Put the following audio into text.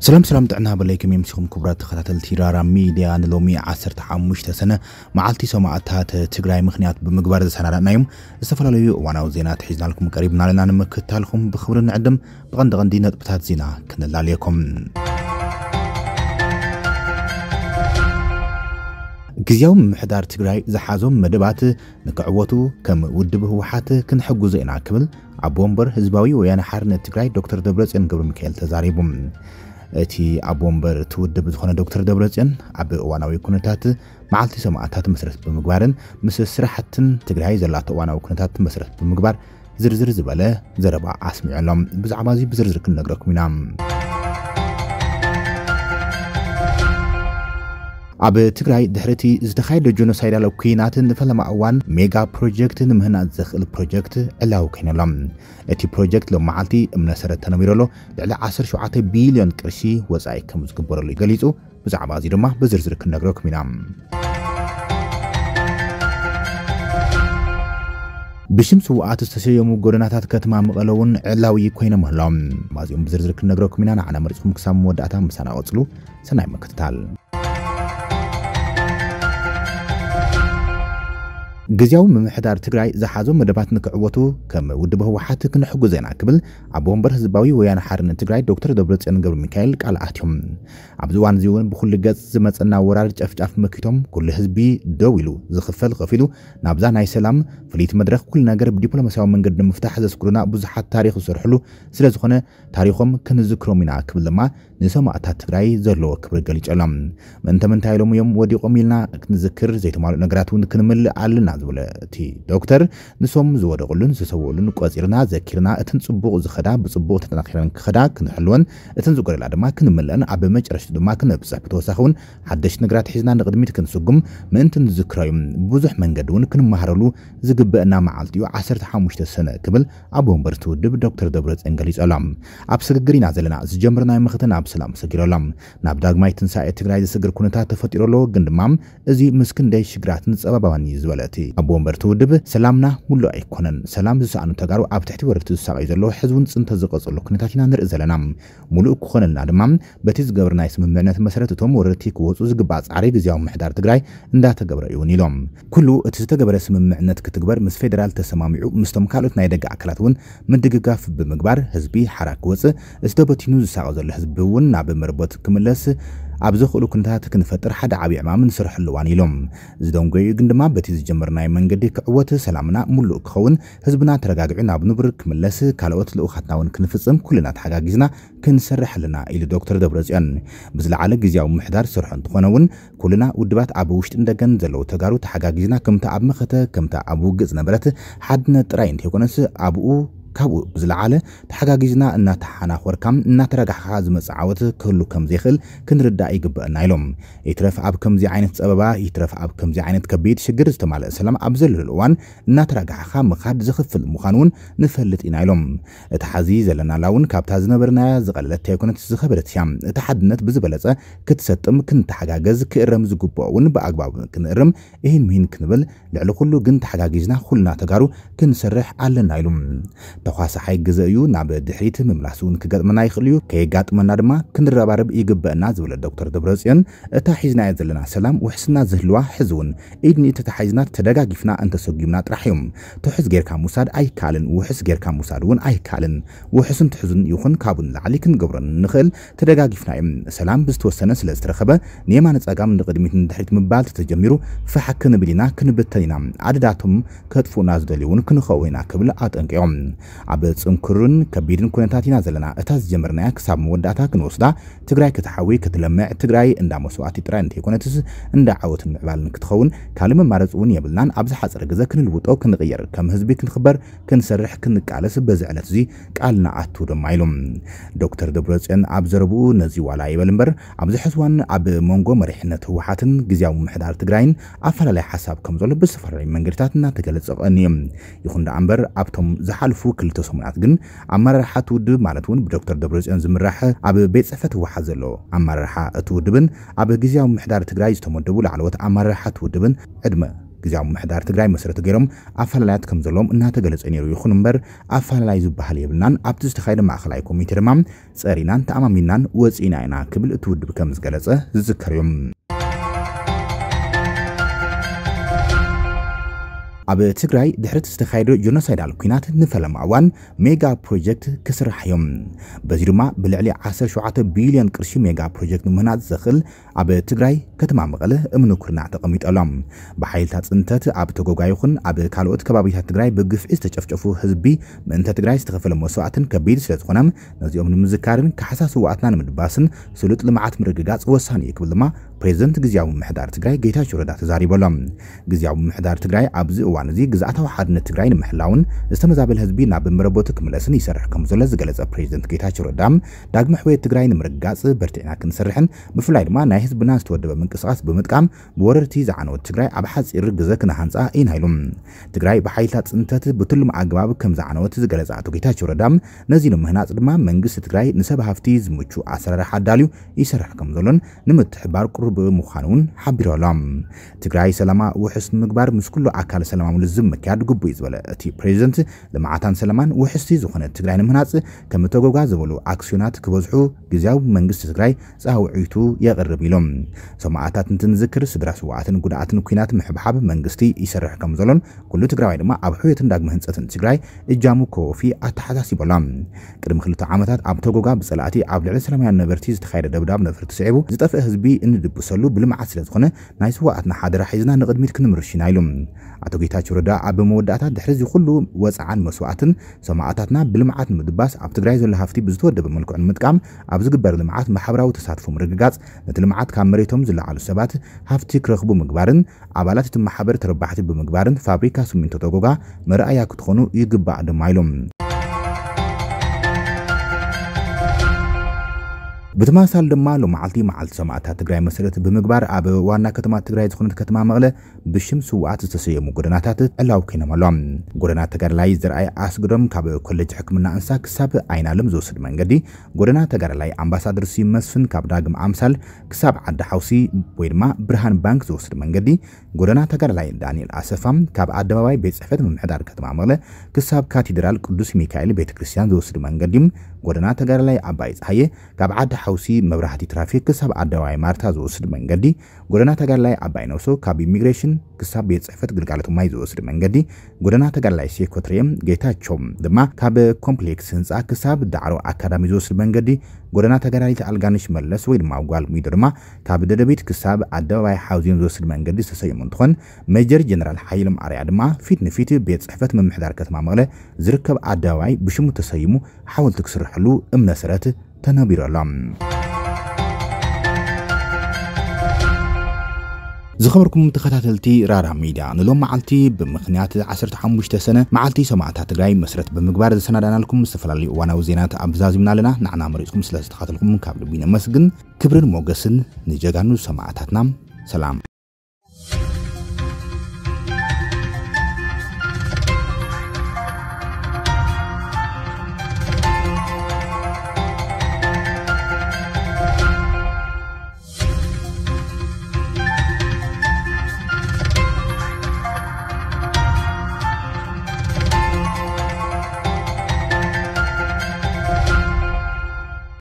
ሰላም ሰላም፣ ጥዕና በለይኩም ይምስኹም ክቡራት ተኸታተልቲ ራራ ሚድያ። ንሎሚ ዓሰርተ ሓሙሽተ ሰነ መዓልቲ ሰማእታት ትግራይ ምኽንያት ብምግባር ዘሰናዳእናዮም ዝተፈላለዩ እዋናዊ ዜናታት ሒዝናልኩም ቀሪብና ኣለና። ንምክትታልኩም ብኽብሪ ንዕድም። ብቐንዲ ቀንዲ ነጥብታት ዜና ክነላልየኩም። ግዝያዊ ምምሕዳር ትግራይ ዝሓዞም መደባት ንክዕወቱ ከም ውድብ ህወሓት ክንሕግዞ ኢና ክብል ኣቦ ወንበር ህዝባዊ ወያነ ሓርነት ትግራይ ዶክተር ደብረጽዮን ገብረ ሚካኤል ተዛሪቡ። እቲ ኣቦ ወንበር እቲ ውድብ ዝኾነ ዶክተር ደብረጽዮን ኣብ እዋናዊ ኩነታት መዓልቲ ሰማእታት መሰረት ብምግባርን ምስ ስራሕትን ትግራይ ዘላቶ እዋናዊ ኩነታት መሰረት ብምግባር ዝርዝር ዝበለ ዘረባ ኣስሚዑ ኣሎ። ብዛዕባ እዚ ብዝርዝር ክንነግረኩም ኢና። ኣብ ትግራይ ድሕሪ እቲ ዝተኻየደ ጀኖሳይዳል ኲናት ንፈለማ እዋን ሜጋ ፕሮጀክት ንምህናፅ ዘኽእል ፕሮጀክት ዕላዊ ኮይኑ ኣሎ። እቲ ፕሮጀክት ሎም መዓልቲ እምነ ሰረት ተነቢሩ ኣሎ። ልዕሊ ዓሰርተ ሸውዓተ ቢልዮን ቅርሺ ወፃኢ ከም ዝግበረሉ ገሊፁ። ብዛዕባ እዚ ድማ ብዝርዝር ክንነግረኩም ኢና። ብሽም ስውኣት ዝተሰየሙ ጎደናታት ከተማ መቐለ እውን ዕላዊ ኮይኖም ኣለዉ። ማዚኦም ብዝርዝር ክንነግረኩም ኢና። ንዓና መሪፅኩም ክሳብ መወዳእታ ምሳና ቀፅሉ። ሰናይ ምክትታል። ግዝያዊ ምምሕዳር ትግራይ ዝሓዞ መደባት ንክዕወቱ ከም ውድብ ህወሓት ክንሕግዞ ኢና ክብል ኣቦ ወንበር ህዝባዊ ወያነ ሓርነት ትግራይ ዶክተር ደብረጽዮን ገብረ ሚካኤል ቃል ኣትዮም። ኣብዚ እዋን እዚ እውን ብኩሉ ገጽ ዝመጸና ወራር ጨፍጫፍ መኪቶም ኩሉ ህዝቢ ደው ኢሉ ዝኽፈል ከፊሉ ናብዛ ናይ ሰላም ፍልይቲ መድረኽ ኩሉ ነገር ብዲፕሎማሲያዊ መንገዲ ንምፍታሕ ዘስጉሩና ብዙሓት ታሪኽ ዝሰርሕሉ ስለ ዝኾነ ታሪኾም ክንዝክሮም ኢና ክብል ድማ ንሰማእታት ትግራይ ዘለዎ ክብሪ ገሊጹ ኣሎ። ምእንተ ምንታይ ኢሎም እዮም ወዲቖም ኢልና ክንዝክር ዘይተማልኡ ነገራት እውን ክንምልእ ኣለና ዝበለ እቲ ዶክተር ንሶም ዝወደቑሉን ዝተሰውኡሉን ቆጺርና ዘኪርና እተን ጽቡቕ ዝኸዳ ብጽቡቕ ተጠናኺረን ክኸዳ ክንሕልወን እተን ዝጎደላ ድማ ክንምልአን ኣብ መጨረሽቱ ድማ ክነብጽሕ ብተወሳኺ እውን ሓደሽቲ ነገራት ሒዝና ንቕድሚት ክንስጉም ምእንቲ ንዝክሮ እዩ። ብዙሕ መንገዲ እውን ክንመሃረሉ ዝግበአና መዓልቲ እዩ ዓሰርተ ሓሙሽተ ሰነ ክብል ኣቦ ወንበር እቲ ውድብ ዶክተር ደብረጽዮን ገሊጹ ኣሎ። ኣብ ስግግር ኢና ዘለና። ዝጀመርናዮ መኸተ ናብ ሰላም ሰጊሩ ኣሎ። ናብ ዳግማይ ትንሳኤ ትግራይ ዘስግር ኩነታት ተፈጢሩ ኣሎ። ግን ድማ እዚ ምስ ክንደይ ሽግራትን ጸበባን እዩ ዝበለ እቲ ኣቦ ወንበር እቲ ውድብ ሰላምና ሙሉእ ኣይኮነን። ሰላም ዝሰኣኑ ተጋሩ ኣብ ትሕቲ ወረርቲ ዝሳቐዩ ዘለዉ ሕዚ እውን ጽንተ ዝቐጸሉ ኩነታት ኢና ንርኢ ዘለና። ሙሉእ ክኾነልና ድማ በቲ ዝገበርናዮ ስምምዕነት መሰረት እቶም ወረርቲ ክወፁ ዝግባእ ጻዕሪ ግዝያዊ ምምሕዳር ትግራይ እንዳተገብረ እዩ እውን ኢሎም። ኩሉ እቲ ዝተገበረ ስምምዕነት ክትግበር ምስ ፌደራል ተሰማሚዑ ምስቶም ካልኦት ናይ ደገ ኣካላት እውን ምድግጋፍ ብምግባር ህዝቢ ሓራ ክወፅእ፣ እቲ ተበቲኑ ዝሳቐ ዘሎ ህዝቢ እውን ናብ መርበቱ ክምለስ ኣብ ዘኽእሉ ኩነታት ክንፈጥር ሓደ ዓብዪ ዕማም ንሰርሐሉ እዋን ኢሎም። ዝደንጎዩ ግን ድማ በቲ ዝጀመርናዮ መንገዲ ክዕወት፣ ሰላምና ሙሉእ ክኸውን፣ ህዝብና ተረጋጊዑ ናብ ንቡር ክምለስ፣ ካልኦት ልኡኻትና እውን ክንፍፅም ኩልና ተሓጋጊዝና ክንሰርሕ ኣለና ኢሉ ዶክተር ደብረጽዮን። ብዝለዓለ ግዝያዊ ምምሕዳር ዝሰርሖ እንትኾነ እውን ኩልና ውድባት ኣብ ውሽጥን ደገን ዘለዉ ተጋሩ ተሓጋጊዝና ከምታ ኣብ መኸተ ከምታ ኣብ ውግእ ዝነበረት ሓድነት ጥራይ እንተይኮነስ ኣብኡ ካብኡ ብዝለዓለ ተሓጋጊዝና እናተሓናኾርካ እናተረጋሕኻ ዝመጽእ ዓወት ክህሉ ከም ዘይኽእል ክንርዳእ ይግበአና ኢሎም። ይትረፍ ኣብ ከምዚ ዓይነት ጸበባ፣ ይትረፍ ኣብ ከምዚ ዓይነት ከቢድ ሽግር ዝተማልአ ሰላም ኣብ ዘለሉ እዋን እናተረጋሕኻ ምኻድ ዝኽፍል ምዃኑ እውን ንፈልጥ ኢና ኢሎም። እታ ሓዚ ዘለናላ እውን ካብታ ዝነበርናያ ዝቐለለት ኣይኮነት ዝኸበደት እያ። እታ ሓድነት ብዝበለጸ ክትሰጥም ክንተሓጋገዝ ክእረም ዝግብኦ እውን ብኣግባቡ ክንእርም እሂን ምሂን ክንብል ልዕሊ ኩሉ ግን ተሓጋጊዝና ኩልና ተጋሩ ክንሰርሕ ኣለና ኢሉ። ተኳሳሓይ ግዘ እዩ፣ ናብ ድሕሪት ምምላስ እውን ክገጥመና ይኽእል እዩ፣ ከየጋጥመና ድማ ክንረባረብ ይግበአና ዝበለ ዶክተር ደብረጽዮን እታ ሒዝናያ ዘለና ሰላም ውሕስና ዝህልዋ ሕዚ እውን ኢድ ንኢድ ተታሒዝና ተደጋጊፍና እንተሰጉምና ጥራሕ እዮም። ትሑዝ ጌርካ ምውሳድ ኣይከኣልን፣ ውሑስ ጌርካ ምውሳድ እውን ኣይከኣልን። ውሑስን ትሑዝን ይኹን ካብኡ ንላዕሊ ክንገብሮ ንኽእል ተደጋጊፍና እዮም። ሰላም ብዝተወሰነ ስለ ዝተረኸበ ንየማነ ጸጋም ንቕድሚት ንድሕሪት ምባል ተተጀሚሩ ፋሕ ክንብል ኢና፣ ክንብተን ኢና። ኣደዳቶም ከጥፍኡና ዝደልዩ እውን ክንኸውን ኢና ክብል ኣጠንቂቖም። ኣብ ጽንኩርን ከቢድን ኩነታት ኢና ዘለና። እታ ዝጀመርናያ ክሳብ መወዳእታ ክንወስዳ ትግራይ ክትሓዊ ክትለምዕ ትግራይ እንዳ መስዋእቲ ጥራይ እንተይኮነትስ እንዳ ዓወትን ምዕባልን ክትኸውን ካልእ መማረፂ እውን የብልናን። ኣብ ዝሓፀረ ግዘ ክንልውጦ ክንቕየር ከም ህዝቢ ክንኽበር ክንሰርሕ ክንቃለስ በዚ ዕለት እዚ ቃል ንኣቱ ድማ ኢሉ። ዶክተር ደብረፅዮን ኣብ ዘረብኡ ነዚ ዋላ ይበል እምበር ኣብዚ ሕዚ እዋን ኣብ መንጎ መሪሕነት ህወሓትን ግዝያዊ ምምሕዳር ትግራይን ኣፈላለየ ሓሳብ ከም ዘሎ ብዝተፈላለዩ መንገድታት እናተገለፀ ቀንዩ። ይኹን ደኣ እምበር ኣብቶም ዝሓልፉ ክልተ ሰሙናት ግን ኣመራርሓ እቲ ውድብ ማለት እውን ብዶክተር ደብረፅዮን ዝምራሕ ኣብ ቤት ፅሕፈት ህወሓት ዘሎ ኣመራርሓ እቲ ውድብን ኣብ ግዝያዊ ምምሕዳር ትግራይ ዝተመደቡ ላዕለዎት ኣመራርሓ እቲ ውድብን ዕድመ ግዝያዊ ምምሕዳር ትግራይ መሰረት ገይሮም ኣፈላላያት ከም ዘለዎም እናተገለጸ ነይሩ። ይኹን እምበር ኣፈላላይ ዝበሃል የብልናን፣ ኣብቲ ዝተኻየደ ማእኸላይ ኮሚቴ ድማ ጸሪናን ተኣማሚናን ወጺእና ኢና ክብል እቲ ውድብ ከም ዝገለጸ ዝዝከር እዩ። ኣብ ትግራይ ድሕሪ እቲ ዝተኻየደ ጆኖሳይዳል ኲናት ንፈለማ እዋን ሜጋ ፕሮጀክት ክስራሕ እዮም። በዚ ድማ ብልዕሊ ዓሰርተ ሸውዓተ ቢልዮን ቅርሺ ሜጋ ፕሮጀክት ንምህናጽ ዘኽእል ኣብ ትግራይ ከተማ መቐለ እምኒ ኩርናዕ ተቐሚጡ ኣሎ። ብሓይልታት ጽንተት ኣብ ተጎጋ ይኹን ኣብ ካልኦት ከባቢታት ትግራይ ብግፍዒ ዝተጨፍጨፉ ህዝቢ ምእንተ ትግራይ ዝተኸፈለ መስዋእትን ከቢድ ስለ ዝኾነ ነዚኦም ንምዝካርን ካሕሳ ስውኣትና ንምድባስን ስሉጥ ልምዓት ምርግጋጽ ወሳኒ እዩ ክብል ድማ ፕሬዝደንት ግዝያዊ ምምሕዳር ትግራይ ጌታቸው ረዳ ተዛሪቡ ኣሎ። ግዝያዊ ምምሕዳር ትግራይ ኣብዚ እዋን እዚ ግዝኣታዊ ሓድነት ትግራይ ንምሕላውን ዝተመዛበለ ህዝቢ ናብ መረበቱ ክምለስን ይሰርሕ ከም ዘሎ ዝገለጸ ፕሬዝደንት ጌታቸው ረዳ ዳግመ ሕውየት ትግራይ ንምርግጋጽ በርቲዕና ክንሰርሕን ብፍላይ ድማ ናይ ህዝብና ዝተወደበ ምንቅስቃስ ብምጥቃም ብወረርቲ ዝዓነወት ትግራይ ኣብ ሓፂር ግዘ ክነሃንፃ ኢና ኢሉ። ትግራይ ብሓይልታት ፅንተት ብትሉም ኣገባብ ከም ዝዓነወት ዝገለጸ ኣቶ ጌታቸው ረዳ ነዚ ንምህናፅ ድማ መንግስቲ ትግራይ ንሰብ ሃፍቲ ዝምቹ ኣሰራርሓ ኣዳልዩ ይሰርሕ ከም ዘሎን ንምትሕባር ቅሩብ ምዃኑ እውን ሓቢሩ ኣሎ። ትግራይ ሰላማ ውሕስ ንምግባር ምስ ኩሉ ኣካል ሰላማዊ ልዝብ ምክያድ ግቡእ እዩ ዝበለ እቲ ፕሬዝደንት ልምዓታን ሰላማን ውሕስቲ ዝኾነት ትግራይ ንምህናፅ ከም ተጎጋ ዝበሉ ኣክስዮናት ክበዝሑ ግዝያዊ መንግስቲ ትግራይ ፃውዒቱ የቕርብ ኢሎም። ሰማእታት እንትንዝክር ስድራ ስዋኣትን ጉዳኣትን ኲናት ምሕብሓብ መንግስቲ ይሰርሕ ከም ዘሎን ኩሉ ትግራዋይ ድማ ኣብ ሕውየትን ዳግመ ህንፀትን ትግራይ እጃሙ ከወፊ ኣተሓሳሲቦሎም። ቅድሚ ክልተ ዓመታት ኣብ ተጎጋ ብፀላእቲ ኣብ ልዕሊ ሰላማውያን ነበርቲ ዝተኻየደ ደብዳብ ነፈርቲ ስዒቡ ዝጠፍአ ህዝቢ እንድብሰሉ ብልምዓት ስለ ዝኾነ ናይ ስዋኣትና ሓደራ ሒዝና ንቕድሚት ክንምርሽ ኢና ኢሉ። ኣቶ ጌታቸው ረዳ ኣብ መወዳእታ ድሕሪ እዚ ኩሉ ወፅዓን መስዋእትን ሰማእታትና ብልምዓት ንምድባስ ኣብ ትግራይ ዘሎ ሃፍቲ ብዝተወደበ መልክዑ ንምጥቃም ኣብ ዝግበር ልምዓት ማሕበራዊ ተሳትፎ ምርግጋፅ ነቲ ልምዓት ካብ መሬቶም ዝለዓሉ ሰባት ሃፍቲ ክረኽቡ ምግባርን ኣባላት እቲ ማሕበር ተረባሕቲ ብምግባርን ፋብሪካ ስሚንቶ ተጎጋ መርኣያ ክትኾኑ ይግባእ ድማ ኢሎም። ብተመሳሳሊ ድማ ሎማዓልቲ መዓልቲ ሰማእታት ትግራይ መሰረት ብምግባር ኣብ ዋና ከተማ ትግራይ ዝኾነት ከተማ መቐለ ብሽም ስውኣት ዝተሰየሙ ጎደናታት ዕላው ኮይኖም ኣሎ። ጎደና ተጋዳላይ ዘርኣይ ኣስግዶም ካብ ኮሌጅ ሕክምና እንስሳ ክሳብ ኣይናለም ዝወስድ መንገዲ፣ ጎደና ተጋዳላይ ኣምባሳደር ስዩም መስፍን ካብ ዳግም ኣምሳል ክሳብ ዓዲ ሓውሲ ወይ ድማ ብርሃን ባንክ ዝወስድ መንገዲ፣ ጎደና ተጋዳላይ ዳንኤል ኣሰፋ ካብ ኣደባባይ ቤት ጽሕፈት ምምሕዳር ከተማ መቐለ ክሳብ ካቴድራል ቅዱስ ሚካኤል ቤተ ክርስቲያን ዝወስድ መንገዲ፣ ጎደና ተጋዳላይ ኣባይ ፀሃየ ካብ ዓዲ ሓውሲ መብራህቲ ትራፊክ ክሳብ ኣደባባይ ማርታ ዝወስድ መንገዲ፣ ጎደና ተጋዳላይ ኣባይ ነብሶ ካብ ኢሚግሬሽን ክሳብ ቤት ጽሕፈት ግልጋሎት ማይ ዝወስድ መንገዲ፣ ጎደና ተጋዳላይ ሴኮትሬም ጌታቸው ድማ ካብ ኮምፕሌክስ ህንፃ ክሳብ ዳዕሮ ኣካዳሚ ዝወስድ መንገዲ፣ ጎደና ተጋዳሊት ኣልጋነሽ መለስ ወይ ድማ ጓል ሚዶ ድማ ካብ ደደቢት ክሳብ ኣደባባይ ሓውዜን ዝወስድ መንገዲ ዝተሰየሙ እንትኾን፣ ሜጀር ጀነራል ሓይሎም ኣርያ ድማ ፊት ንፊት ቤት ጽሕፈት ምምሕዳር ከተማ መቐለ ዝርከብ ኣደባባይ ብሽሙ ተሰይሙ ሓወልቲ ክስርሐሉ እምነ ሰረት ተነቢሩ ኣሎ። ዝኸበርኩም ተኸታተልቲ ራራ ሚድያ፣ ንሎም መዓልቲ ብምኽንያት ዓሰርተ ሓሙሽተ ሰነ መዓልቲ ሰማእታት ትግራይ መስረት ብምግባር ዝሰናዳናልኩም ዝተፈላለዩ እዋናዊ ዜናት ኣብዛዚምና ኣለና። ንዓና መሪፅኩም ስለ ዝተኸታተልኩም ካብ ልቢ ነመስግን። ክብርን ሞገስን ንጀጋኑ ሰማእታትና። ሰላም።